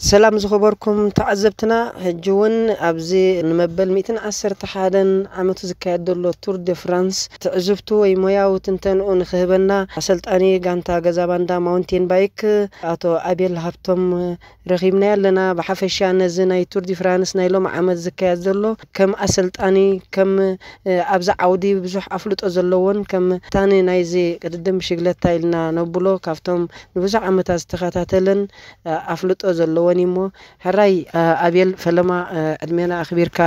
ሰላም ዝኸበርኩም ተዓዘብትና፣ ሕጂ እውን ኣብዚ ንመበል ሚእትን ዓሰርተ ሓደን ዓመቱ ዝካየድ ዘሎ ቱር ደ ፍራንስ ትዕዝብቱ ወይ ሞያዊ ትንተንኡ ንኽህበና ኣሰልጣኒ ጋንታ ገዛ ባንዳ ማውንቴን ባይክ ኣቶ ኣቤል ሃብቶም ረኺብናዮ ኣለና። ብሓፈሻ ነዚ ናይ ቱር ዲ ፍራንስ ናይ ሎም ዓመት ዝካየድ ዘሎ ከም ኣሰልጣኒ፣ ከም ኣብዚ ዓውዲ ብዙሕ ኣፍልጦ ዘለዎን ከም ታኒ ናይዚ ቅድድም ብሽግለታ ኢልና ነብሎ ካብቶም ንብዙሕ ዓመታት ዝተኸታተለን ኣፍልጦ ዘለዎን እዩ። እሞ ሕራይ ኣቤል፣ ፈለማ ዕድሜና ኣኽቢርካ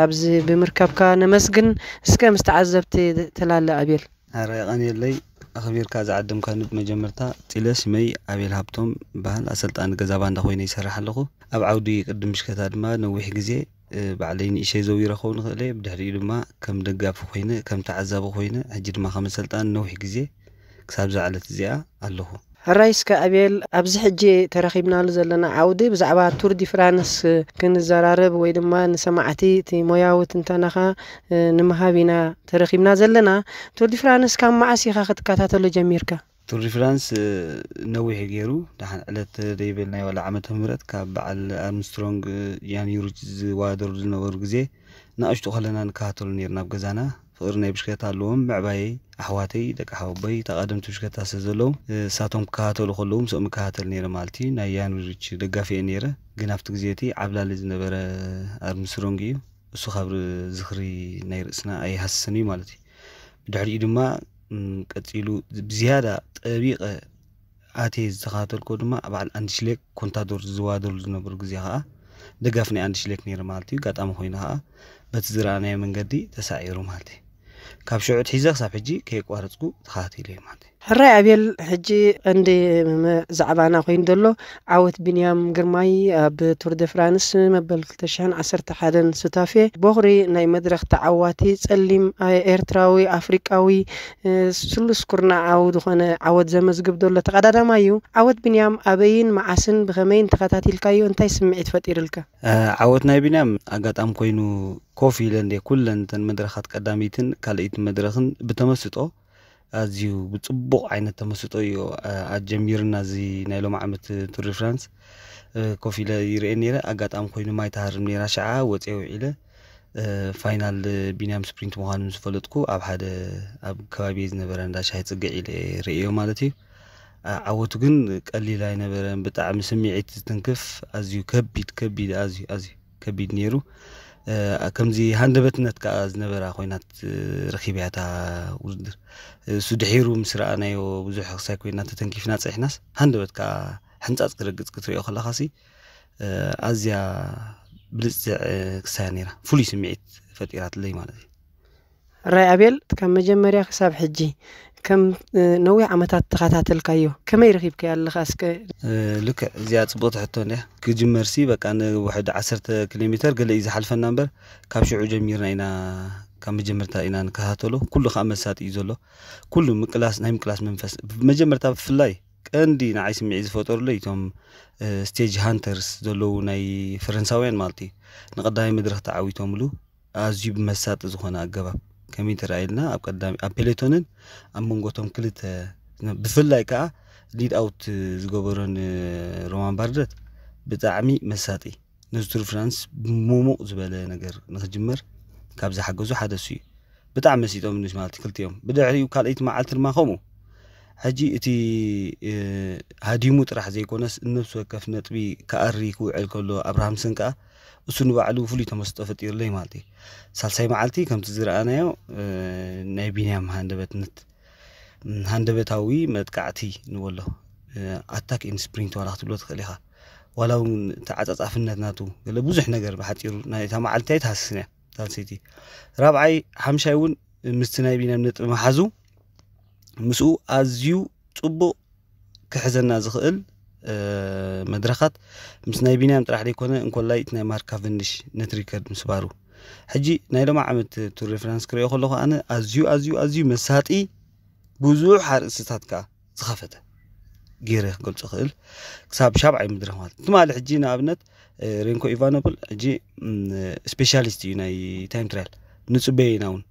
ኣብዚ ብምርካብካ ነመስግን። እስከ ምስ ተዓዘብቲ ተላለ ኣቤል። ሕራይ ቀንየለይ፣ ኣኽቢርካ ዝዓደምካኒ። ብመጀመርታ ፂለ፣ ስመይ ኣቤል ሃብቶም ይበሃል። ኣሰልጣኒ ገዛ ባንዳ ኮይነ ይሰርሕ ኣለኹ። ኣብ ዓውዲ ቅድም ብሽክለታ ድማ ነዊሕ ግዜ ባዕለይ ንእሸይ ዘዊረ ክኸውን ይኽእል እየ። ብድሕሪኡ ድማ ከም ደጋፊ ኮይነ፣ ከም ተዓዛቢ ኮይነ፣ ሕጂ ድማ ከም ኣሰልጣኒ ነዊሕ ግዜ ክሳብ ዝዓለት እዚኣ ኣለኹ። ሕራይ እስከ ኣቤል፣ ኣብዚ ሕጂ ተረኺብናሉ ዘለና ዓውዲ ብዛዕባ ቱር ዲ ፍራንስ ክንዘራረብ ወይ ድማ ንሰማዕቲ እቲ ሞያዊ ትንተናኻ ንምሃብ ኢና ተረኺብና ዘለና። ቱር ዲ ፍራንስ ካብ መዓስ ኢኻ ክትከታተሎ ጀሚርካ? ቱር ዲ ፍራንስ ነዊሕ ገይሩ፣ ደሓን ዕለት ደይበልናይ ዋላ ዓመተ ምህረት ካብ በዓል ኣርምስትሮንግ፣ ያን ዩሪች ዝዋደሩ ዝነበሩ ግዜ ንኣሽቱ ከለና ንከታተሉ ነይርና ኣብ ገዛና። ፍቕሪ ናይ ብሽክለታ ኣለዎም። ምዕባየይ፣ ኣሕዋተይ፣ ደቂ ሓወቦይ፣ ተቐደምቲ ብሽክለታ ስለ ዘለዉ፣ እሳቶም ክከታተሉ ከለዉ ምስኦም እከታተል ነይረ ማለት እዩ። ናይ ያን ዩሪች ደጋፊ እየ ነይረ። ግን ኣብቲ ግዜ እቲ ዓብላሊ ዝነበረ ኣርምስትሮንግ እዩ። እሱ ካብ ዝኽሪ ናይ ርእስና ኣይሃስስን እዩ ማለት እዩ። ብድሕሪኡ ድማ ቀፂሉ ብዝያዳ ጠቢቐ ኣትየ ዝተኸታተልኮ ድማ በዓል ኣንድሽሌክ ኮንታዶር ዝዋደሩ ዝነበሩ ግዜ ከዓ ደጋፊ ናይ ኣንድሽሌክ ነይረ ማለት እዩ። ኣጋጣሚ ኮይኑ ከዓ በቲ ዝረኣናዮ መንገዲ ተሳዒሩ ማለት እዩ። ካብ ሽዑ ትሒዘ ክሳብ ሕጂ ከየቋረፅኩ ተኸታቲለ ማለት እዩ። ሕራይ ኣቤል፣ ሕጂ ቀንዲ ዛዕባና ኮይኑ ዘሎ ዓወት ቢንያም ግርማይ ኣብ ቱር ደ ፍራንስ መበል ክልተ ሽሕን ዓሰርተ ሓደን ሱታፌ ቦኽሪ ናይ መድረኽ ተዓዋቲ ጸሊም ኤርትራዊ ኣፍሪቃዊ ስሉስ ኩርናዓዊ ዝኾነ ዓወት ዘመዝግብ ዘሎ ተቐዳዳማይ እዩ። ዓወት ቢንያም ኣበይን መዓስን ብኸመይን ተኸታቲልካዮ? እንታይ ስምዒት ፈጢርልካ? ዓወት ናይ ቢንያም ኣጋጣሚ ኮይኑ ኮፍ ኢለ እንደ ኩለን እተን መድረኻት ቀዳመይትን ካልኣይትን መድረኽን ብተመስጦ ኣዝዩ ብጽቡቕ ዓይነት ተመስጦ እዩ ኣጀሚርና እዚ ናይ ሎም ዓመት ቱር ዲ ፍራንስ። ኮፍ ኢለ ይርእየ ነይረ። ኣጋጣሚ ኮይኑ ማይ ትሃርም ነይራ፣ ሽዓ ወፅየ ውዒለ። ፋይናል ቢንያም ስፕሪንት ምዃኑ ምስ ፈለጥኩ ኣብ ሓደ ኣብ ከባቢ ዝነበረ እንዳ ሻሂ ፅግዕ ኢለ ርእዮ ማለት እዩ። ዓወቱ ግን ቀሊል ኣይነበረን። ብጣዕሚ ስምዒት ዝትንክፍ፣ ኣዝዩ ከቢድ ከቢድ ኣዝዩ ኣዝዩ ከቢድ ነይሩ። ከምዚ ሃንደበትነት ከዓ ዝነበራ ኮይናት ረኺብያ እታ ውድድር። እሱ ድሒሩ ምስ ረኣናዮ ብዙሕ ክሳይ ኮይና ተተንኪፍና ፀሒናስ፣ ሃንደበት ከዓ ሕንፃፅ ክረግፅ ክትሪኦ ከለኻሲ ኣዝያ ብልፅዕ ክሳያ ነይራ። ፍሉይ ስምዒት ፈጢራትለይ ማለት እዩ። ራይ ኣቤል፣ ካብ መጀመርያ ክሳብ ሕጂ ከም ነዊሕ ዓመታት ተኸታተልካዮ፣ ከመይ ረኺብካዮ ኣለኻ እስከ? ልክዕ፣ እዚኣ ጽቡቕቲ ሕቶ እንድያ። ክጅመርሲ በቃ ንውሕድ ዓሰርተ ኪሎ ሜተር ገለ እዩ ዝሓልፈና እምበር፣ ካብ ሽዑ ጀሚርና ኢና፣ ካብ መጀመርታ ኢና ንከታተሎ። ኩሉ ከኣ መሳጢ እዩ ዘሎ። ኩሉ ምቅላስ፣ ናይ ምቅላስ መንፈስ። መጀመርታ ብፍላይ ቀንዲ ንዓይ ስምዒት ዝፈጠሩለይ እቶም ስቴጅ ሃንተርስ ዘለዉ ናይ ፈረንሳውያን ማለት እዩ። ንቐዳማይ መድረኽ ተዓዊቶምሉ ኣዝዩ ብመሳጢ ዝኾነ ኣገባብ ከመይ ተራእየልና፣ ኣብ ቀዳሚ ኣብ ፔሌቶንን ኣብ መንጎቶም ክልተ ብፍላይ ከዓ ሊድ ኣውት ዝገበሮን ሮማን ባርደት ብጣዕሚ መሳጢ፣ ነዚ ቱር ፍራንስ ብሙሙቕ ዝበለ ነገር ንክጅመር ካብ ዝሓገዙ ሓደ እሱ እዩ። ብጣዕሚ መሲጦም ንስ ማለት ክልቲኦም። ብድሕሪኡ ካልኣይቲ መዓልቲ ድማ ከምኡ። ሕጂ እቲ ሃዲሙ ጥራሕ ዘይኮነስ ነብሲ ወከፍ ነጥቢ ክኣሪ ክውዕል ከሎ ኣብርሃምሰን ከዓ እሱ ንባዕሉ ፍሉይ ተመስጦ ፈጢሩለይ ማለት እዩ። ሳልሳይ መዓልቲ ከምቲ ዝረኣናዮ ናይ ቢንያም ሃንደበትነት፣ ሃንደበታዊ መጥቃዕቲ ንበሎ፣ ኣታክ ኢን ስፕሪንት ዋላ ክትብሎ ትኽእል ኢኻ። ዋላ እውን ተዓፃፃፍነት ናቱ ገለ ብዙሕ ነገር ብሓፂሩ ናይታ መዓልቲ ኣይትሃስስን እያ ሳልሰይቲ። ራብዓይ ሓምሻይ እውን ምስቲ ናይ ቢንያም ነጥቢ መሓዙ ምስኡ ኣዝዩ ፅቡቕ ክሕዘና ዝኽእል መድረኻት ምስ ናይ ቢንያም ጥራሕ ዘይኮነ እንኮላይ እቲ ናይ ማርክ ካቨንዲሽ ነቲ ሪከርድ ምስባሩ። ሕጂ ናይ ሎሚ ዓመት ቱር ደ ፍራንስ ክሪኦ ከለኹ ኣነ ኣዝዩ ኣዝዩ ኣዝዩ መሳጢ ብዙሕ ኣርእስትታት ከዓ ዝኸፈተ ገይረ ክገልፆ ክእል ክሳብ ሻብዓይ መድረኽ ማለት ትማሊ ሕጂ ንኣብነት ሬንኮ ኢቫኖፕል ሕጂ ስፔሻሊስት እዩ ናይ ታይም ትራያል ንፅበዮ ኢና እውን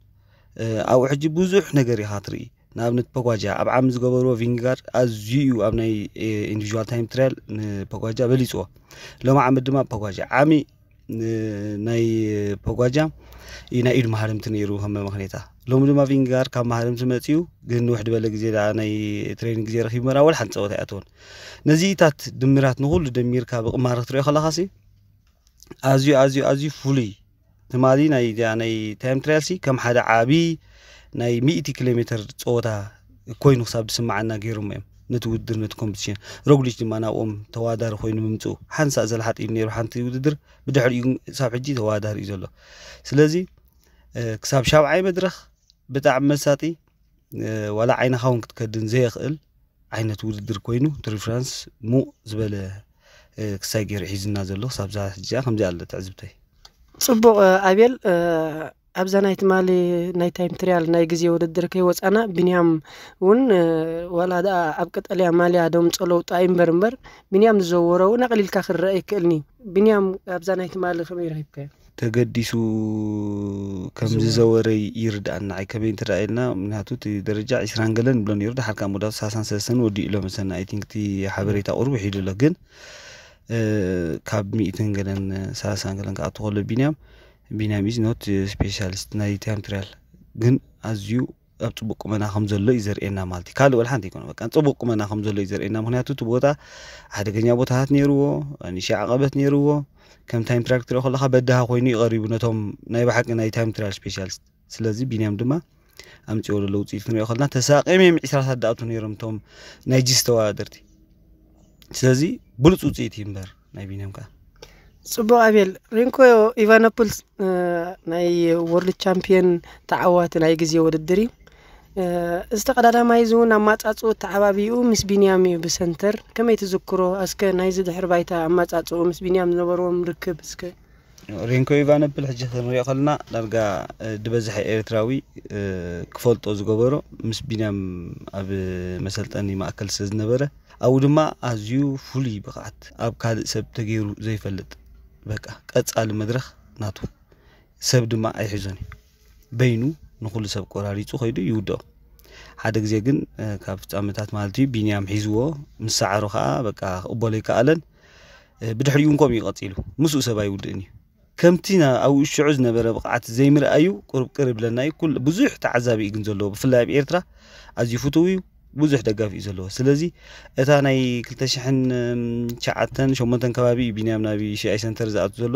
ኣብኡ ሕጂ ብዙሕ ነገር ኢኻ ትርኢ። ንኣብነት ፖጓጃ ኣብ ዓሚ ዝገበርዎ ቪንጋር ኣዝዩ እዩ ኣብ ናይ ኢንዲቪዥዋል ታይም ትራያል ንፖጓጃ በሊፅዎ። ሎም ዓመት ድማ ፖጓጃ ዓሚ ን- ናይ ፖጓጃ እዩ ናይ ኢድ መሃርምቲ ነይሩ ከም መመኽኔታ። ሎሚ ድማ ቪንጋር ካብ መሃርምቲ መፅዩ፣ ግን ንውሕ ዝበለ ግዜ ደኣ ናይ ትሬኒንግ ግዜ ረኪቡ መራ ወላ ሓንቲ ፀወታ ኣይኣተወን። ነዚታት ድምራት ንኩሉ ደሚርካ ብቕማረ ክትሪኦ ከለኻሲ ኣዝዩ ኣዝዩ ኣዝዩ ፍሉይ ትማሊ ናይ ናይ ታይም ትራያል ሲ ከም ሓደ ዓቢ ናይ ሚእቲ ኪሎ ሜትር ፀወታ ኮይኑ ክሳብ ዝስምዓና ገይሮም እዮም። ነቲ ውድድር ነቲ ኮምፒቲሽን ሮግሊች ድማ ናብኦም ተዋዳሪ ኮይኑ ምምፅኡ ሓንሳእ ዘልሓጥ እዩ ነይሩ። ሓንቲ ውድድር ብድሕሪኡ ግን ክሳብ ሕጂ ተዋዳሪ እዩ ዘሎ። ስለዚ ክሳብ ሻብዓይ መድረኽ ብጣዕሚ መሳጢ፣ ዋላ ዓይንኻ እውን ክትከድን ዘየኽእል ዓይነት ውድድር ኮይኑ፣ ቱር ዲ ፍራንስ ሙቕ ዝበለ ክሳይ ገይሩ ሒዝና ዘሎ ክሳብ ዛ ሕጂ ከምዚ ኣለ ትዕዝብተይ። ፅቡቕ ኣቤል፣ ኣብዛ ናይ ትማሊ ናይ ታይም ትሪያል ናይ ግዜ ውድድር ከይወፃና ቢንያም እውን ዋላ ደኣ ኣብ ቀጠልያ ማልያ ደምፆ ለውጢ ኣይንበር እምበር፣ ቢንያም ዝዘወሮ እውን ኣቕሊልካ ክረአ ይክእልኒ። ቢንያም ኣብዛ ናይ ትማሊ ከመይ ረኺብካዮ? ተገዲሱ ከም ዝዘወረ ይርዳእና። ኣይ ከመይ እንተ ኢልና፣ ምክንያቱ እቲ ደረጃ ዒስራን ገለን ብሎ ነይሩ፣ ድሓር ካብ መወዳእቱ ሰላሳን ሰለስተን ወዲኡ ኣሎ መሰለና። ኣይ ቲንክ እቲ ሓበሬታ ቁሩብ ውሒዱ ኣሎ፣ ግን ካብ ሚእትን ገለን ሰላሳን ገለን ክኣቱ ከሎ ቢንያም ቢንያም ኢዝ ኖት ስፔሻሊስት ናይ ታይም ትራያል፣ ግን ኣዝዩ ኣብ ፅቡቅ ቁመና ከም ዘሎ እዩ ዘርእየና ማለት እዩ። ካልእ ወላ ሓንቲ ኣይኮነ፣ በቃ ፅቡቅ ቁመና ከም ዘሎ እዩ ዘርእየና። ምክንያቱ እቲ ቦታ ሓደገኛ ቦታታት ነይርዎ፣ ንእሽተይ ዓቐበት ነይርዎ። ከም ታይም ትራያል ክትሪኦ ከለካ በድሃ ኮይኑ እዩ ቀሪቡ ነቶም ናይ ብሓቂ ናይ ታይም ትራያል ስፔሻሊስት። ስለዚ ቢንያም ድማ ኣምፅኦ ዘሎ ውፅኢት ክንሪኦ ከለና ተሳቂም እዮም ዒስራታት ዝኣቱ ነይሮም እቶም ናይ ጂስ ተወዳደርቲ። ስለዚ ብሉፅ ውፅኢት እዩ እምበር ናይ ቢንያም ከዓ ፅቡቅ ኣቤል። ሬንኮ ኢቫኖፖል ናይ ወርልድ ቻምፒየን ተዓዋቲ ናይ ግዜ ውድድር እዩ። እዚ ተቀዳዳማይ እዚ እውን ኣማፃፅኡ ተዓባቢኡ ምስ ቢንያም እዩ ብሰንተር። ከመይ ትዝክሮ? እስከ ናይዚ ድሕሪ ባይታ ኣማፃፅኡ ምስ ቢንያም ዝነበርዎም ርክብ እስከ። ሬንኮ ኢቫኖፖል ሕጂ ክንሪኦ ከለና ዳርጋ ድበዝሐ ኤርትራዊ ክፈልጦ ዝገበሮ ምስ ቢንያም ኣብ መሰልጠኒ ማእከል ስለ ዝነበረ ኣብኡ ድማ ኣዝዩ ፍሉይ ብቕዓት ኣብ ካልእ ሰብ ተገይሩ ዘይፈልጥ በቃ ቀጻሊ መድረኽ ናቱ ሰብ ድማ ኣይሕዞን እዩ። በይኑ ንኹሉ ሰብ ቆራሪጹ ከይዱ ይውድኦ። ሓደ ግዜ ግን ካብ ፍጻመታት ማለት እዩ ቢንያም ሒዝዎ ምስ ሰዓሮ ከዓ በቃ ክቕበሎ ኣይከኣለን። ብድሕሪኡ እውን ከምኡ እዩ ቀጺሉ። ምስኡ ሰብ ኣይውድእን እዩ። ከምቲ ኣብኡ ሽዑ ዝነበረ ብቕዓት ዘይምርኣዩ ቁሩብ ቅር ይብለና እዩ። ኩል ብዙሕ ተዓዛቢ እዩ ግን ዘለዎ፣ ብፍላይ ኣብ ኤርትራ ኣዝዩ ፍቱው እዩ፣ ብዙሕ ደጋፊ እዩ ዘለዎ። ስለዚ እታ ናይ ክልተ ሽሕን ትሽዓተን ሸሞንተን ከባቢ እዩ ቢንያም ናብ ዩሲኣይ ሰንተር ዝኣቱ ዘሎ።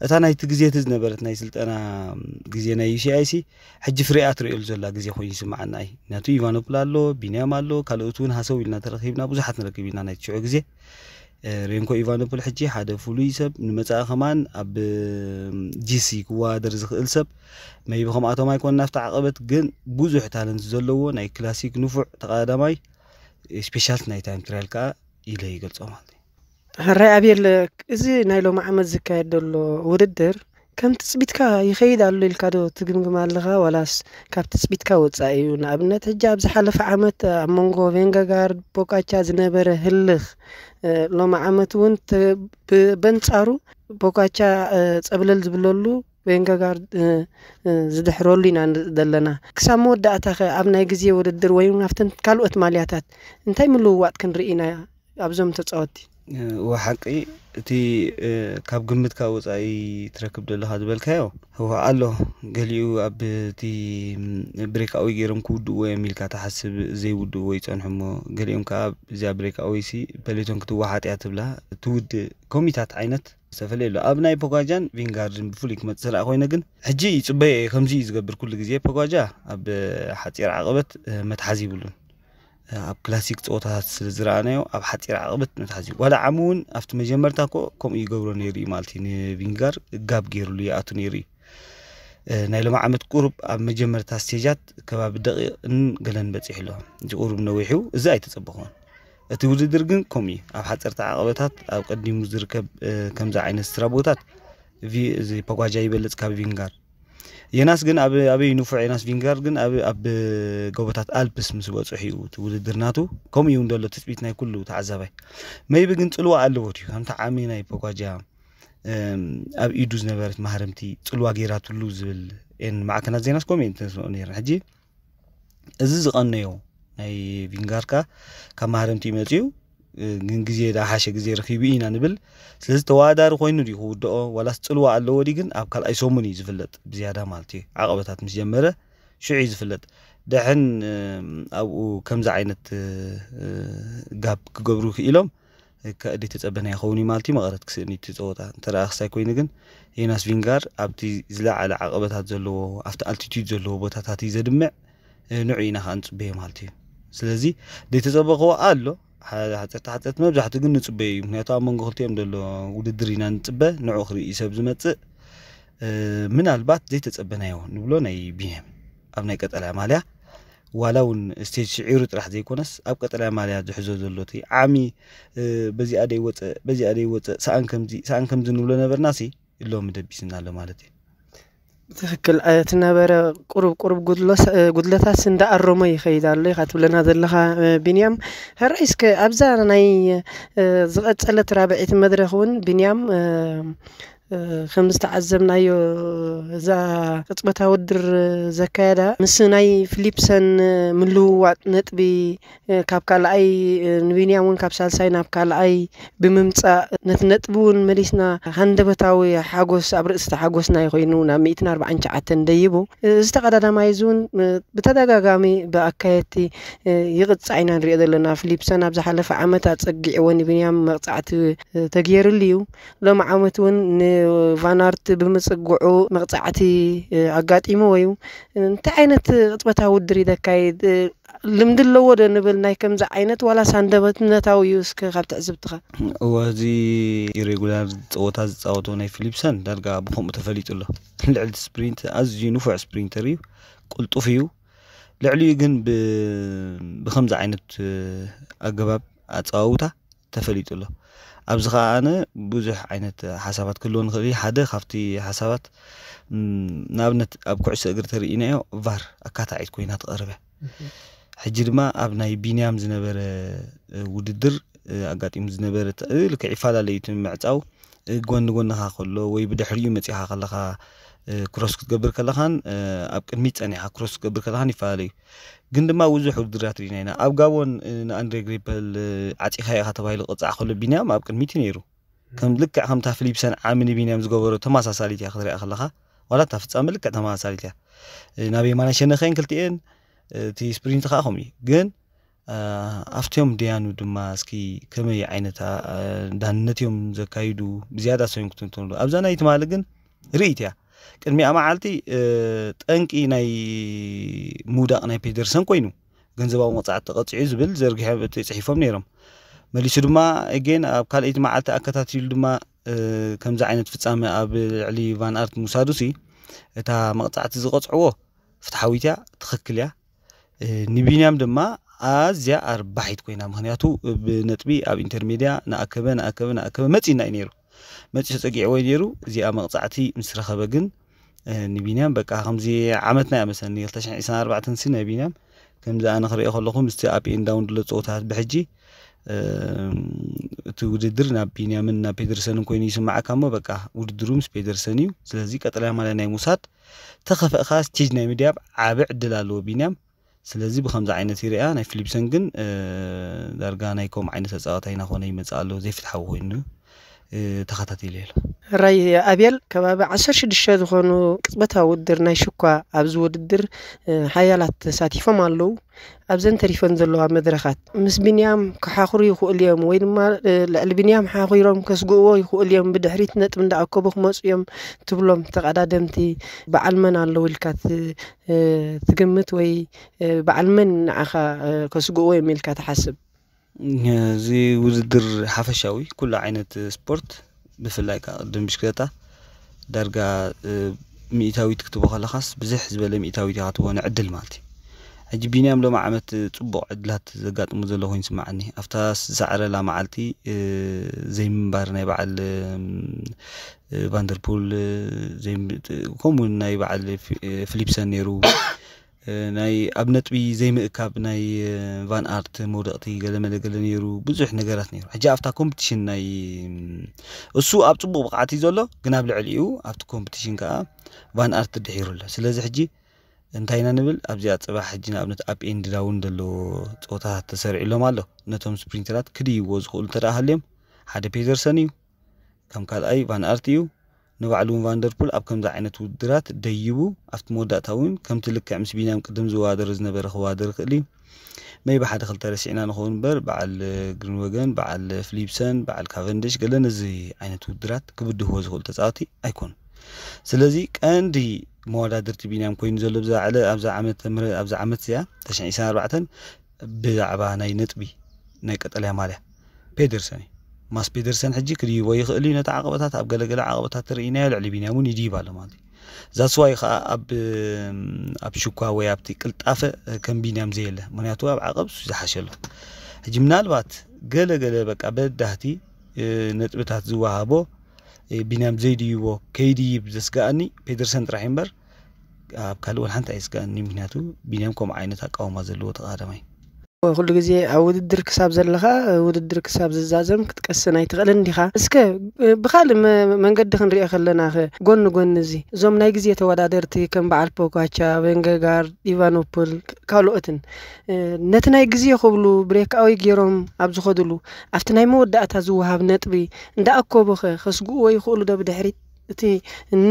እታ ናይቲ ግዜ እቲ ዝነበረት ናይ ስልጠና ግዜ ናይ ዩሲኣይ ሲ ሕጂ ፍሬኣ ትርእየሉ ዘላ ግዜ ኮይኑ ይስምዓና እዩ። ምክንያቱ ኢቫኖፕል ኣሎ፣ ቢንያም ኣሎ፣ ካልኦት እውን ሃሰው ኢልና ተረኺብና ብዙሓት ንረክብ ኢና ናይቲ ሽዑ ግዜ። ሬንኮ ኢቫኖፖል ሕጂ ሓደ ፍሉይ ሰብ ንመጻኢ ከማን ኣብ ጂሲ ክወዳደር ዝኽእል ሰብ መይቢ ከምኣቶም ኣይኮን ናፍቲ ዓቐበት ግን ብዙሕ ታለንት ዘለዎ ናይ ክላሲክ ንፉዕ ተቐዳዳማይ ስፔሻልት ናይ ታይም ትራያል ከዓ ኢለ ይገልጾ ማለት እዩ። ሕራይ ኣቤል፣ እዚ ናይ ሎሚ ዓመት ዝካየድ ዘሎ ውድድር ከም ትፅቢትካ ይኸይድ ኣሎ ኢልካ ዶ ትግምግም ኣለኻ ዋላስ ካብ ትፅቢትካ ወፃኢ እዩ? ንኣብነት ሕጂ ኣብ ዝሓለፈ ዓመት ኣብ መንጎ ቬንገጋርድ ቦካቻ ዝነበረ ህልኽ ሎሚ ዓመት እውን በንፃሩ ቦካቻ ፀብለል ዝብለሉ ቬንገጋርድ ዝድሕረሉ ኢና ዘለና። ክሳብ መወዳእታ ከ ኣብ ናይ ግዜ ውድድር ወይ ኣብተን ካልኦት ማልያታት እንታይ ምልውዋጥ ክንርኢ ኢና ኣብዞም ተፃወቲ? እወ ሓቂ እቲ ካብ ግምትካ ወፃኢ ትረክብ ዘለካ ዝበልካዮ እወ ኣሎ። ገሊኡ ኣብ እቲ ብሬክኣወይ ገይሮም ክውድእዎ እዮም ኢልካ ትሓስብ ዘይውድእዎ ይፀንሑ እሞ ገሊኦም ከዓ እዚኣ ብሬክኣወይ ሲ ፐሌቶን ክትወሓጥ እያ ትብላ ትውድእ ኮሚታት ዓይነት ዝተፈለየ ኣሎ። ኣብ ናይ ፖጋጃን ቪንጋርድን ብፍሉይ ክመፅእ ስራእ ኮይነ ግን ሕጂ ይፅበዮ እየ። ከምዚ እዩ ዝገብር ኩሉ ግዜ ፖጋጃ ኣብ ሓፂር ዓቐበት መትሓዚ ይብሉን ኣብ ክላሲክ ፀወታታት ስለ ዝረኣናዮ ኣብ ሓፂር ዓቕበት መትሓዚ ዋላ ዓሚ እውን ኣብቲ መጀመርታ ኮ ከምኡ ይገብሮ ነይሩ እዩ ማለት እዩ። ንቪንጋር ጋብ ገይሩሉ ይኣቱ ነይሩ እዩ። ናይ ሎሚ ዓመት ቁሩብ ኣብ መጀመርታ ስቴጃት ከባቢ ደቂቕን ገለን በፂሑ ኣሎ። እዚ ቁሩብ ነዊሑ እዚ ኣይተፀበኹን። እቲ ውድድር ግን ከምኡ እዩ። ኣብ ሓፀርቲ ዓቐበታት ኣብ ቀዲሙ ዝርከብ ከምዚ ዓይነት ስትራቦታት እዚ ፖጓጃ ይበልፅ ካብ ቪንጋር። የናስ ግን ኣብ ኣበይ ንፉዕ የናስ ቪንጋር ግን ኣብ ኣብ ጎቦታት ኣልፕስ ምስ በፅሑ እዩ እቲ ውድድር ናቱ። ከምኡ እዩ እንደሎ ትፅቢት ናይ ኩሉ ተዓዛባይ። መይቢ ግን ፅልዋ ኣለዎ እዩ ከምቲ ዓሚ ናይ ፖጓጃ ኣብ ኢዱ ዝነበረት ማህረምቲ ፅልዋ ገይራትሉ ዝብል ኤን ማዕከናት ዜናስ ከምኡ እየን ተስምዑ ነይረን። ሕጂ እዚ ዝቐነዮ ናይ ቪንጋርካ ካብ ማህረምቲ መፅዩ፣ ግን ግዜ ዝሓሸ ግዜ ረኺቡ ኢና ንብል። ስለዚ ተወዳዳሪ ኮይኑ ድዩ ክውድኦ ዋላስ ፅልዋ ኣለዎ ድዩ ግን ኣብ ካልኣይ ሰሙን እዩ ዝፍለጥ ብዝያዳ ማለት እዩ። ዓቐበታት ምስ ጀመረ ሽዑ እዩ ዝፍለጥ። ደሕን ኣብኡ ከምዚ ዓይነት ጋብ ክገብሩ ክኢሎም ከእዲ ተጸበና ይኸውን እዩ ማለት እዩ። መቐረት ክስእን እዩ እቲ ጸወታ እንተ ደኣ ክሳይ ኮይኑ ግን ዮናስ ቪንጋር ኣብቲ ዝለዓለ ዓቐበታት ዘለዎ ኣብቲ ኣልቲቱድ ዘለዎ ቦታታት እዩ ዘድምዕ። ንዑ ኢና ከዓ ንጽበዮ ማለት እዩ። ስለዚ ዘይተጸበኽዎ ኣሎ። ሓፀርቲ ሓፀርቲ መብዛሕትኡ ግን ንጽበዮ እዩ። ምክንያቱ ኣብ መንጎ ክልቲኦም ዘሎ ውድድር ኢና ንጽበ። ንዑ ክርኢ ሰብ ዝመጽእ ምናልባት ዘይተጸበናዮ ንብሎ ናይ ቢንያም ኣብ ናይ ቀጠልያ ማልያ ዋላ እውን ስቴጅ ስዒሩ ጥራሕ ዘይኮነስ ኣብ ቀጠልያ ማልያ ዝሕዞ ዘሎ እቲ ዓሚ በዚኣ ደይወፀ በዚኣ ደይወፀ ሰኣን ከምዚ ሰኣን ከምዚ ንብሎ ነበርና ሲ ሎሚ ደቢስና ኣሎ ማለት እዩ። ትክክል። እቲ ነበረ ቁሩብ ቁሩብ ጉድለታትስ እንዳኣረሞ ይኸይድ ኣሎ ኢኻ ትብለና ዘለኻ ቢንያም። ሕራይ እስከ ኣብዛ ናይ ዝቐጸለት ራብዒት መድረኽ እውን ቢንያም ከም ዝተዓዘብናዮ እዛ ቅጽበታ ውድድር ዘካየዳ ምስ ናይ ፊሊፕሰን ምልውዋጥ ነጥቢ ካብ ካልኣይ ንቢንያም እውን ካብ ሳልሳይ ናብ ካልኣይ ብምምፃእ ነቲ ነጥቢ እውን መሊስና ሃንደበታዊ ሓጎስ ኣብ ርእስቲ ሓጎስና ኮይኑ ናብ ሚእትን ኣርባዓን ትሽዓተን ደይቡ። እዚ ተቐዳዳማይ እዚ እውን ብተደጋጋሚ ብኣካየድቲ ይቕፃዕ ኢና ንሪኦ ዘለና። ፊሊፕሰን ኣብ ዝሓለፈ ዓመት ኣፀጊዕዎ ንቢንያም መቕፃዕቲ ተገይርሉ እዩ። ሎም ዓመት እውን ንቫናርት ብምፅግዑ መቕፃዕቲ ኣጋጢምዎ እዩ። እንታይ ዓይነት ቅፅበታዊ ውድድር እዩ ዘካይድ? ልምዲ ኣለዎ ዶ ንብል ናይ ከምዚ ዓይነት ዋላስ ሃንደበትነታዊ እዩ? እስከ ካብ ትዕዝብትኻ። እወ፣ እዚ ኢሬጉላር ፀወታ ዝፃወቶ ናይ ፊሊፕሰን ዳርጋ ብከምኡ ተፈሊጡ ኣሎ። ልዕሊ ስፕሪንት ኣዝዩ ንፉዕ ስፕሪንተር እዩ፣ ቅልጡፍ እዩ። ልዕሊኡ ግን ብከምዚ ዓይነት ኣገባብ ኣፀዋውታ ተፈሊጡ ኣሎ። ኣብዚ ከዓ ኣነ ብዙሕ ዓይነት ሓሳባት ክህልዎ ንኽእል እዩ። ሓደ ካብቲ ሓሳባት ንኣብነት ኣብ ኩዕሶ እግሪ ተርእናዮ ቫር ኣካታዒት ኮይና ትቐርበ። ሕጂ ድማ ኣብ ናይ ቢንያም ዝነበረ ውድድር ኣጋጢሙ ዝነበረ ልክዕ ይፈላለዩ እቲ ምዕፃው ጎኒ ጎንኻ ከሎ ወይ ብድሕሪኡ መፂኻ ከለኻ ክሮስ ክትገብር ከለኻን ኣብ ቅድሚት ፀኒኻ ክሮስ ክትገብር ከለኻን ይፈላለዩ። ግን ድማ ብዙሕ ውድድራት ርኢና ኢና። ኣብ ጋቦን ንኣንድሬ ግሪፐል ዓፂኻ ኢኻ ተባሂሉ ቅፃዕ ከሎ ቢንያም ኣብ ቅድሚት እዩ ነይሩ። ከም ልክዕ ከምታ ፊሊፕሰን ዓሚ ንቢንያም ዝገበሮ ተመሳሳሊት እያ ክትሪኣ ከለኻ ዋላ እታ ፍፃመ ልክዕ ተመሳሳሊት እያ። ናብ የማናይ ሸነኸን ክልቲኤን እቲ ስፕሪንት ከዓ ከምኡ እዩ። ግን ኣብቲኦም ደያኑ ድማ እስኪ ከመይ ዓይነት ዳንነት እዮም ዘካይዱ ብዝያዳ ሰዮም ክትንትንሉ ኣብዛ ናይ ትማሊ ግን ርእይት እያ። ቅድሚኣ መዓልቲ ጠንቂ ናይ ምውዳቕ ናይ ፔደርሰን ኮይኑ ገንዘባዊ መቕፃዕቲ ተቐፂዑ ዝብል ዘርጊሖም እቲ ፅሒፎም ነይሮም። መሊሱ ድማ ኤጌን ኣብ ካልኣይቲ መዓልቲ ኣከታቲሉ ድማ ከምዚ ዓይነት ፍፃመ ኣብ ልዕሊ ቫን ኣርት ምውሳዱ ሲ እታ መቕፃዕቲ ዝቐፅዕዎ ፍትሓዊት እያ፣ ትኽክል እያ። ንቢንያም ድማ ኣዝያ ኣርባሒት ኮይና፣ ምኽንያቱ ብነጥቢ ኣብ ኢንተርሜድያ ንኣከበ ንኣከበ ንኣከበ መፂና እዩ ነይሩ። መፂ ተፀጊዕዎ እዩ ነይሩ። እዚኣ መቕፃዕቲ ምስ ረኸበ ግን ንቢንያም በቃ ከምዚ ዓመትና እያ መሰኒ ክልተ ሽሕን ዕስራን ኣርባዕተን ሲ ናይ ቢንያም ከምዚ ኣነ ክሪኦ ከለኹ ምስቲ ኣፕ ኤን ዳውን ድሎ ፀወታት ብሕጂ እቲ ውድድር ናብ ቢንያምን ናብ ፔደርሰንን ኮይኑ ይስማዓካ እሞ በቃ ውድድሩ ምስ ፔደርሰን እዩ። ስለዚ ቀጠልያ ማልያ ናይ ምውሳድ ተኸፈእካ ስቴጅ ናይ ምድያብ ዓቢ ዕድል ኣለዎ ቢንያም። ስለዚ ብከምዚ ዓይነት ይርኣ ናይ ፊሊፕሰን ግን ዳርጋ ናይ ከምኡ ዓይነት ተፃዋታይ እናኾነ ይመፅእ ኣሎ ዘይፍትሓዊ ኮይኑ ተኸታቲሉ ኣሎ። ራይ ኣብየል ከባቢ ዓሰርተ ሽዱሽተ ዝኾኑ ቅፅበታዊ ውድድር ናይ ሽኳ ኣብዚ ውድድር ሓያላት ተሳቲፎም ኣለዉ። ኣብዘን ተሪፈን ዘለዋ መድረኻት ምስ ቢንያም ክሓኽሩ ይኽእሉ እዮም ወይ ድማ ልዕሊ ቢንያም ሓኺሮም ከስግእዎ ይኽእሉ እዮም፣ ብድሕሪት ነጥቢ እንዳኣከቡ ክመፁ እዮም ትብሎም ተቐዳደምቲ በዓል መን ኣለዉ ኢልካ ትግምት ወይ በዓል መን ንዓኻ ከስግእዎ እዮም ኢልካ ትሓስብ? እዚ ውድድር ሓፈሻዊ ኩሉ ዓይነት ስፖርት ብፍላይ ከዓ ቅድም ብሽክለታ ዳርጋ ሚእታዊት ክትቦ ከለኻስ ብዝሕ ዝበለ ሚእታዊት ኢኻ ትቦ ንዕድል ማለት እዩ። ሕጂ ቢንያም ሎም ዓመት ፅቡቕ ዕድላት ዘጋጥሙ ዘሎ ኮይኑ ይስምዓኒ። ኣብታ ዝሰዕረላ መዓልቲ ዘይምንባር ናይ በዓል ቫንደርፑል ከምኡ ናይ በዓል ፊሊፕሰን ነይሩ። ናይ ኣብ ነጥቢ ዘይምእካብ ናይ ቫን ኣርት መውደቕቲ ገለመለ ገለ ነይሩ፣ ብዙሕ ነገራት ነይሩ። ሕጂ ኣብታ ኮምፒቲሽን ናይ እሱ ኣብ ፅቡቕ ብቕዓት እዩ ዘሎ፣ ግን ኣብ ልዕሊኡ ኣብቲ ኮምፒቲሽን ከዓ ቫን ኣርት ድሒሩ ኣሎ። ስለዚ ሕጂ እንታይ ኢና ንብል? ኣብዚኣ ጽባሕ ሕጂ ንኣብነት ኣፕ ኤንድ ዳውን ዘለዎ ጸወታታት ተሰሪዕሎም ኣሎ። ነቶም ስፕሪንተራት ክድይዎ ዝኽእሉ እንተ ደኣ ሃልዮም፣ ሓደ ፔደርሰን እዩ፣ ከም ካልኣይ ቫን ኣርት እዩ። ንባዕሉ እውን ቫንደርፑል ኣብ ከምዚ ዓይነት ውድድራት ደይቡ ኣብቲ መወዳእታ እውን ከምቲ ልክዕ ምስ ቢንያም ቅድም ዝወዳደር ዝነበረ ክወዳደር ይኽእል እዩ። መይቢ ሓደ ክልተ ረሲዕና ንኸውን እምበር በዓል ግሪንወገን፣ በዓል ፍሊፕሰን፣ በዓል ካቨንድሽ ገለ ነዚ ዓይነት ውድድራት ክብድህዎ ዝኽእሉ ተጻወቲ ኣይኮኑን። ስለዚ ቀንዲ መወዳድርቲ ቢንያም ኮይኑ ዘሎ ብዛ ዕለ ኣብዛ ዓመት ተምረ ኣብዛ ዓመት እዚኣ ተሽዒ ዕስራን ኣርባዕተን ብዛዕባ ናይ ነጥቢ ናይ ቀጠልያ ማልያ ፔደርሰን እዩ። ማስ ፔደርሰን ሕጂ ክድይቦ ይኽእል እዩ ነቲ ዓቐበታት ኣብ ገለገለ ዓቐበታት ተርእይናዮ ልዕሊ ቢንያም እውን ይድይብ ኣሎ ማለት እዩ። ዛስዋይ ከዓ ኣብ ኣብ ሽኳ ወይ ኣብቲ ቅልጣፈ ከም ቢንያም ዘየለ ምክንያቱ ኣብ ዓቐብ እሱ ዝሓሸ ኣሎ። ሕጂ ምናልባት ገለ ገለ በቃ በዳህቲ ነጥብታት ዝወሃቦ ቢንያም ዘይድይቦ ከይድይብ ዘስጋኣኒ ፔደርሰን ጥራሕ እዩ እምበር ኣብ ካልእ ወላ ሓንቲ ኣይስጋኣኒ። ምክንያቱ ቢንያም ከምኡ ዓይነት ኣቃውማ ዘለዎ ተቓዳማይ ኩሉ ግዜ ኣብ ውድድር ክሳብ ዘለኻ ውድድር ክሳብ ዝዛዘም ክትቀስን ኣይትኽእልን ዲኻ? እስከ ብኻልእ መ- መንገዲ ክንሪኦ ከለና ኸ ጎኒ ጎኒ እዚ እዞም ናይ ግዜ ተወዳደርቲ ከም በዓል ፖጋቻ፣ ቬንገጋርድ፣ ኢቫኖፖል ካልኦትን ነቲ ናይ ግዜ ክብሉ ብሬክኣዊ ገይሮም ኣብ ዝኸድሉ ኣብቲ ናይ መወዳእታ ዝወሃብ ነጥቢ እንዳኣኮቡ ኸ ከስግእዎ ይኽእሉ ዶ ብድሕሪት? እቲ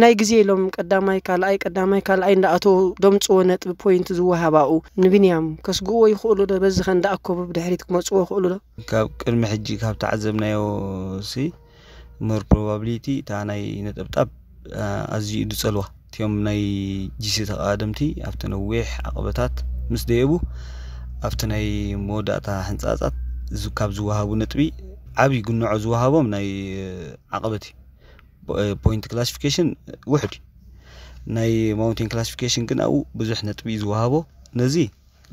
ናይ ግዜ ኢሎም ቀዳማይ ካልኣይ ቀዳማይ ካልኣይ እንዳኣተው ደምፅዎ ነጥቢ ፖይንት ዝወሃባኡ ንብንያም ከስግእዎ ይኽእሉ ዶ? በዚ ከ እንዳኣከቡ ብድሕሪት ክመፅዎ ይኽእሉ ዶ? ካብ ቅድሚ ሕጂ ካብ ተዓዘብናዮ ሲ more probability እታ ናይ ነጠብጣብ ኣዝዩ እዩ ዝፀልዋ። እቲኦም ናይ ጂሲ ተቐዳደምቲ ኣብቲ ነዊሕ ዓቐበታት ምስ ደየቡ ኣብቲ ናይ መወዳእታ ሕንፃፃት ካብ ዝወሃቡ ነጥቢ ዓብዪ ግንዖ ዝወሃቦም ናይ ዓቐበት እዩ። ፖይንት ክላሲፊኬሽን ውሕድ እዩ። ናይ ማውንቴን ክላሲፊኬሽን ግን ኣብኡ ብዙሕ ነጥቢ እዩ ዝወሃቦ። ነዚ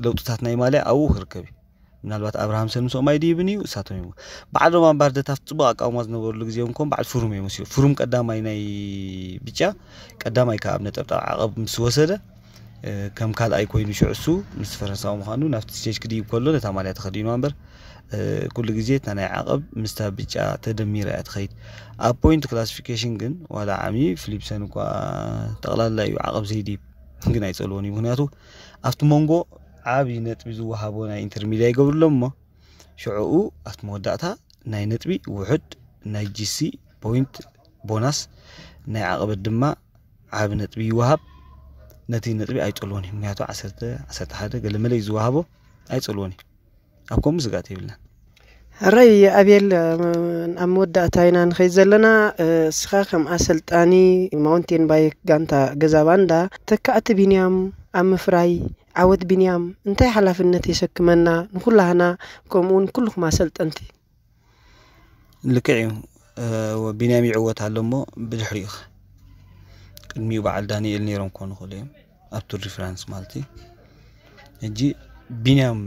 ለውጥታት ናይ ማልያ ኣብኡ ክርከብ እዩ። ምናልባት ኣብርሃምሰን ምስኦም ኣይድይብን እዩ እሳቶም እዮም። በዓል ሮማን ባርደታ ኣብቲ ፅቡቕ ኣቃውማ ዝነበሩሉ ግዜ እውን ከም በዓል ፍሩም እዮም መሲሉ። ፍሩም ቀዳማይ ናይ ብጫ ቀዳማይ ከዓ ኣብ ነጠብጣብ ዓቐብ ምስ ወሰደ ከም ካልኣይ ኮይኑ ሽዑ እሱ ምስ ፈረንሳዊ ምዃኑ ናብቲ ስቴጅ ክድይብ ከሎ ነታ ማልያ ተኸዲኑ እምበር ኩሉ ግዜ እታ ናይ ዓቐብ ምስታ ብጫ ተደሚራ እያ ትኸይድ። ኣብ ፖይንት ክላሲፊኬሽን ግን ዋላ ዓሚ ፊሊፕሰን እኳ ጠቕላላ እዩ ዓቐብ ዘይድይብ ግን ኣይፀልዎን እዩ። ምክንያቱ ኣብቲ መንጎ ዓብዪ ነጥቢ ዝወሃቦ ናይ ኢንተርሚድያ ይገብርሎም እሞ ሽዕኡ ኣብቲ መወዳእታ ናይ ነጥቢ ውሕድ ናይ ጂሲ ፖይንት ቦናስ ናይ ዓቐበት ድማ ዓቢ ነጥቢ ይወሃብ። ነቲ ነጥቢ ኣይፀልዎን እዩ። ምክንያቱ ዓሰርተ፣ ዓሰርተ ሓደ ገለ መለ እዩ ዝወሃቦ። ኣይፀልዎን እዩ። ኣብ ከምኡ ስጋት የብልናን። ሕራይ ኣቤል ኣብ መወዳእታ ኢና ንኸይድ ዘለና። እስኻ ከም ኣሰልጣኒ ማውንቴን ባይክ ጋንታ ገዛ ባንዳ ተካእቲ ቢንያም ኣብ ምፍራይ ዓወት ቢንያም እንታይ ሓላፍነት የሰክመና ንኩላህና ከምኡውን ኩልኹም ኣሰልጠንቲ? ልክዕ እዩ። ቢንያም ይዕወት ኣሎ እሞ ብድሕሪኡ ኸ ቅድሚኡ በዓል ዳንኤል ነይሮም ክኾኑ ይኽእሉ እዮም ኣብ ቱር ዲ ፍራንስ ማለት እዩ። ሕጂ ቢንያም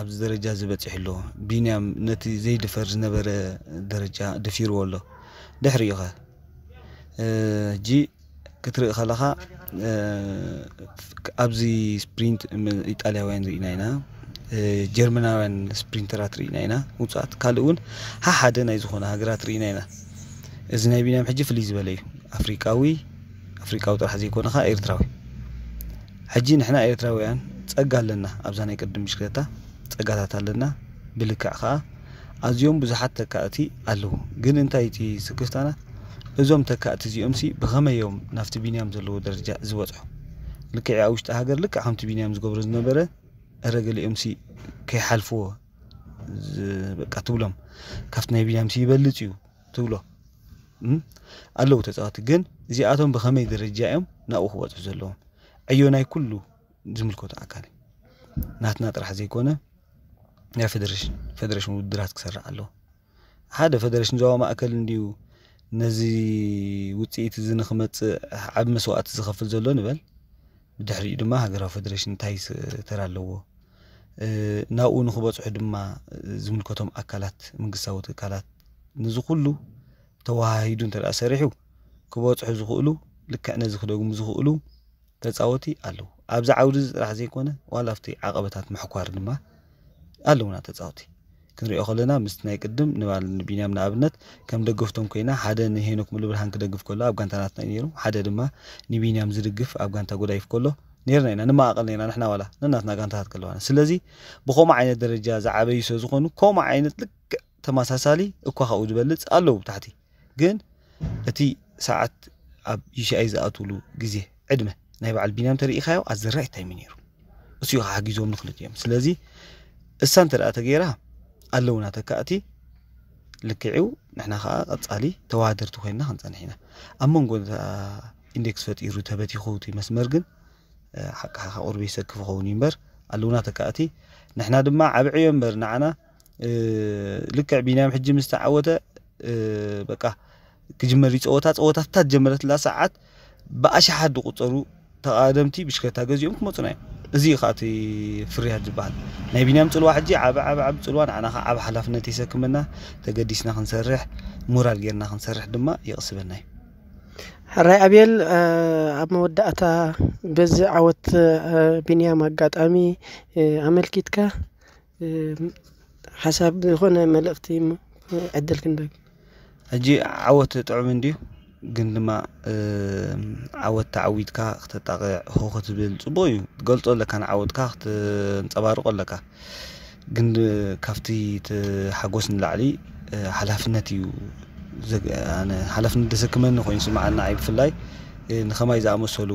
ኣብዚ ደረጃ እዚ በፂሑ ኣሎ። ቢንያም ነቲ ዘይድፈር ዝነበረ ደረጃ ደፊርዎ ኣሎ። ድሕሪኡ ኸ ሕጂ ክትርኢ ከለኻ ኣብዚ ስፕሪንት ኢጣልያውያን ርኢና ኢና፣ ጀርመናውያን ስፕሪንተራት ርኢና ኢና፣ ውፃት ካልእ እውን ሓሓደ ናይ ዝኾነ ሃገራት ርኢና ኢና። እዚ ናይ ቢንያም ሕጂ ፍልይ ዝበለ እዩ። ኣፍሪቃዊ ኣፍሪቃዊ ጥራሕ ዘይኮነ ከዓ ኤርትራዊ። ሕጂ ንሕና ኤርትራውያን ፀጋ ኣለና፣ ኣብዛ ናይ ቅድም ብሽክለታ ፀጋታት ኣለና። ብልክዕ ከዓ ኣዝዮም ብዙሓት ተካእቲ ኣለዉ። ግን እንታይ እቲ ስክፍታና እዞም ተካእቲ እዚኦም ሲ ብኸመይ እዮም ናብቲ ቢንያም ዘለዎ ደረጃ ዝበፅሑ? ልክዕ ኣብ ውሽጢ ሃገር ልክዕ ከምቲ ቢንያም ዝገብሮ ዝነበረ እረ ገሊኦም ሲ ከይሓልፍዎ በቃ ትብሎም ካብቲ ናይ ቢንያም ሲ ይበልፅ እዩ ትብሎ ኣለዉ ተፃወቲ። ግን እዚኣቶም ብኸመይ ደረጃ እዮም ናብኡ ክበፅሑ ዘለዎም? ዕዮ ናይ ኩሉ ዝምልከቶ ኣካል እዩ። ናትና ጥራሕ ዘይኮነ ናይ ፌደሬሽን ፌደሬሽን ውድድራት ክሰርዕ ኣለዎ። ሓደ ፌደሬሽን ዞባ ማእከል እንድዩ ነዚ ውፅኢት እዚ ንክመፅእ ዓብ መስዋእቲ ዝኸፍል ዘሎ ንበል። ብድሕሪኡ ድማ ሃገራዊ ፌደሬሽን እንታይ ተራ ኣለዎ? ናብኡ ንክበፅሑ ድማ ዝምልከቶም ኣካላት መንግስታዊ ትካላት ነዚ ኩሉ ተወሃሂዱ እንተ ሰሪሑ ክበፅሑ ዝኽእሉ ልክዕ ነዚ ክደግሙ ዝኽእሉ ተፃወቲ ኣለዉ። ኣብዚ ዓውዲ እዚ ጥራሕ ዘይኮነ ዋላ ኣብቲ ዓቐበታት ምሕኳር ድማ ኣለውና ተፃወቲ። ክንሪኦ ከለና ምስቲ ናይ ቅድም ንባል ንቢንያም ንኣብነት ከም ደገፍቶም ኮይና ሓደ ንሄኖክ ሙሉብርሃን ክደግፍ ከሎ ኣብ ጋንታ ናትና እዩ ነይሩ፣ ሓደ ድማ ንቢንያም ዝድግፍ ኣብ ጋንታ ጎዳይፍ ከሎ ነርና ኢና ንመቓቐል ነርና ንሕና ዋላ ነናትና ጋንታታት ከለዋና። ስለዚ ብኸምኡ ዓይነት ደረጃ ዝዓበዩ ስለ ዝኾኑ ከምኡ ዓይነት ልክዕ ተመሳሳሊ እኳ ካብኡ ዝበልፅ ኣለዉ ብታሕቲ። ግን እቲ ሰዓት ኣብ ዩ ሲ ኣይ ዝኣትውሉ ግዜ ዕድመ ናይ በዓል ቢንያም ተርኢኻዮ ኣዘራይ ታይም ነይሩ። እሱ እዩ ሓጊዞም ንክልቲኦም። ስለዚ እሳ እንተ ደኣ ተገይራ ኣለውና ተካእቲ ልክዕው ንሕና ከዓ ቀጻሊ ተዋደርቲ ኮይንና ክንጸንሕ ኢና። ኣብ መንጎ እታ ኢንዴክስ ፈጢሩ ተበቲኹ እቲ መስመር ግን ሓቂ ሓቂ ቁርቢ ይሰክፍ ኸውን እዩ እምበር ኣለውና ተካእቲ። ንሕና ድማ ዓብዕዮ እምበር ንዓና ልክዕ ቢንያም ሕጂ ምስ ተዓወተ በቃ ክጅመር እዩ ፀወታ። ፀወታ ፍታት ጀመረትላ ሰዓት ብኣሽሓት ዝቁፀሩ ተቃደምቲ ብሽክለታ ገዚኦም ክመፁና እዮም። እዚ እዩ ከዓ እቲ ፍርያት ዝበሃል ናይ ቢንያም ፅልዋ። ሕጂ ዓብ ዓብ ዓብ ፅልዋ ንዓና ከዓ ዓብ ሓላፍነት የሰክመና። ተገዲስና ክንሰርሕ፣ ሞራል ጌርና ክንሰርሕ ድማ ይቕስበና እዩ። ሕራይ ኣቤል፣ ኣብ መወዳእታ በዚ ዓወት ቢንያም ኣጋጣሚ ኣመልኪትካ ሓሳብ ዝኾነ መልእኽቲ ዕድል ክንደግ። ሕጂ ዓወት ጥዑም እንድዩ፣ ግን ድማ ዓወት ተዓዊትካ ክተጣቕዕ ሆ ክትብል ፅቡቅ እዩ። ትገልፆ ኣለካ ንዓወትካ ክትንፀባርቆ ኣለካ። ግን ካብቲ ሓጎስ ንላዕሊ ሓላፍነት እዩ። ሓላፍነት ዘሰክመኒ ኮይኑ ስምዓና። ብፍላይ ንኸማይ ዝኣመሰሉ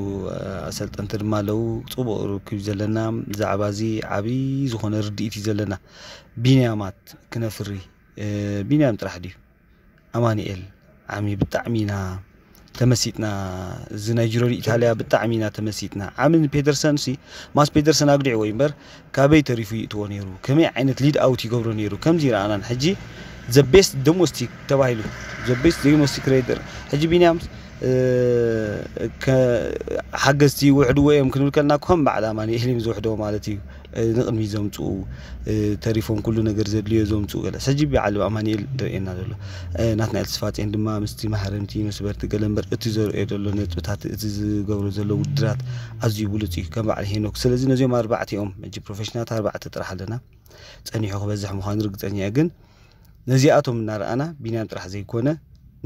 ኣሰልጠንቲ ድማ ኣለዉ። ፅቡቅ ርክብ ዘለና ብዛዕባ እዚ ዓብዪ ዝኾነ ርድኢት እዩ ዘለና። ቢንያማት ክነፍሪ ቢንያም ጥራሕ ድዩ? ኣማኒኤል ዓሚ ብጣዕሚ ኢና ተመሲጥና። እዚ ናይ ጅሮ ኢታልያ ብጣዕሚ ኢና ተመሲጥና። ዓሚ ንፔተርሰን ሲ ማስ ፔተርሰን ኣግዲዕዎ እዩ እምበር ካበይ ተሪፉ ይእትዎ ነይሩ? ከመይ ዓይነት ሊድ ኣውት ይገብሮ ነይሩ? ከምዚ ረኣናን ሕጂ ዘ ቤስት ዶሞስቲክ ተባሂሉ ዘ ቤስት ዶሞስቲክ ሬደር። ሕጂ ቢንያም ሓገዝቲ ውሕድዎ እዮም ክንብል ከልና ከም በዓል ኣማኒኤል እዮም ዝውሕድዎ ማለት እዩ። ንቕድሚ ዘምፅኡ ተሪፎም ኩሉ ነገር ዘድልዮ ዘምፅኡ ገለ ሕጂ በዓል ኣማኒኤል ደርእየና ዘሎ። ናትናኤል ተስፋፅዮን ድማ ምስቲ መሃረምቲ መስበርቲ ገለ እምበር እቲ ዘርእዮ ዘሎ ነጥብታት እቲ ዝገብሮ ዘሎ ውድድራት ኣዝዩ ብሉፅ እዩ ከም በዓል ሄኖክ። ስለዚ ነዚኦም ኣርባዕቲኦም ሕጂ ፕሮፌሽናት ኣርባዕተ ጥራሕ ኣለና። ጸኒሑ ክበዝሕ ምዃኑ ርግጸኛ እየ። ግን ነዚኣቶም እናረኣና ቢንያም ጥራሕ ዘይኮነ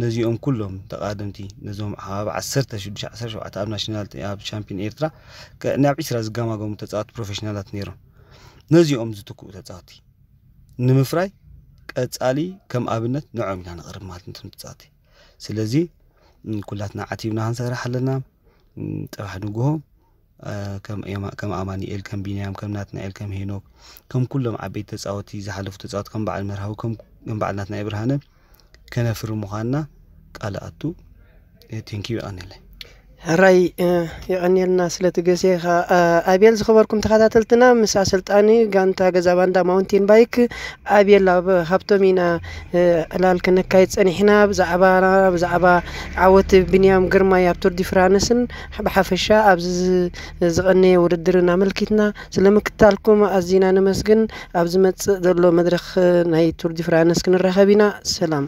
ነዚኦም ኩሎም ተቓደምቲ ነዞም ኣብ ዓሰርተ ሽዱሽተ ዓሰርተ ሸውዓተ ኣብ ናሽናል ኣብ ሻምፒዮን ኤርትራ ናብ ዒስራ ዝጋማገሙ ተጻወቲ ፕሮፌሽናላት ነይሮም። ነዚኦም ዝትክኡ ተጻወቲ ንምፍራይ ቀጻሊ ከም ኣብነት ንዕኦም ኢና ንቕርብ ማለት ነቶም ተጻወቲ። ስለዚ ኩላትና ዓቲብና ክንሰርሕ ኣለና። ጽባሕ ንግሆ ከም ኣማኒኤል ከም ቢንያም ከም ናትናኤል ከም ሄኖክ ከም ኩሎም ዓበይቲ ተጻወቲ ዝሓለፉ ተጻወቲ ከም በዓል መርሃዊ ከም በዓል ናትናኤል ብርሃነ ከነፍሪ ምዃንና ቃል ኣቱ። ቴንኪዩ። ይቐንለይ። ሕራይ። የቐንየልና ስለቲ ገዜኻ። ኣቤል ዝኸበርኩም ተኸታተልትና ምስ ኣሰልጣኒ ጋንታ ገዛ ባንዳ ማውንቴን ባይክ ኣቤል ኣብ ሃብቶም ኢና ዕላል ከነካይድ ጸኒሕና። ብዛዕባ ብዛዕባ ዓወት ብንያም ግርማይ ኣብ ቱር ዲ ፍራንስን ብሓፈሻ ኣብዚ ዝቐነየ ውድድርን ኣመልኪትና ስለ ምክታልኩም ኣዚና ነመስግን። ኣብ ዝመጽእ ዘሎ መድረኽ ናይ ቱር ዲ ፍራንስ ክንራኸብ ኢና። ሰላም።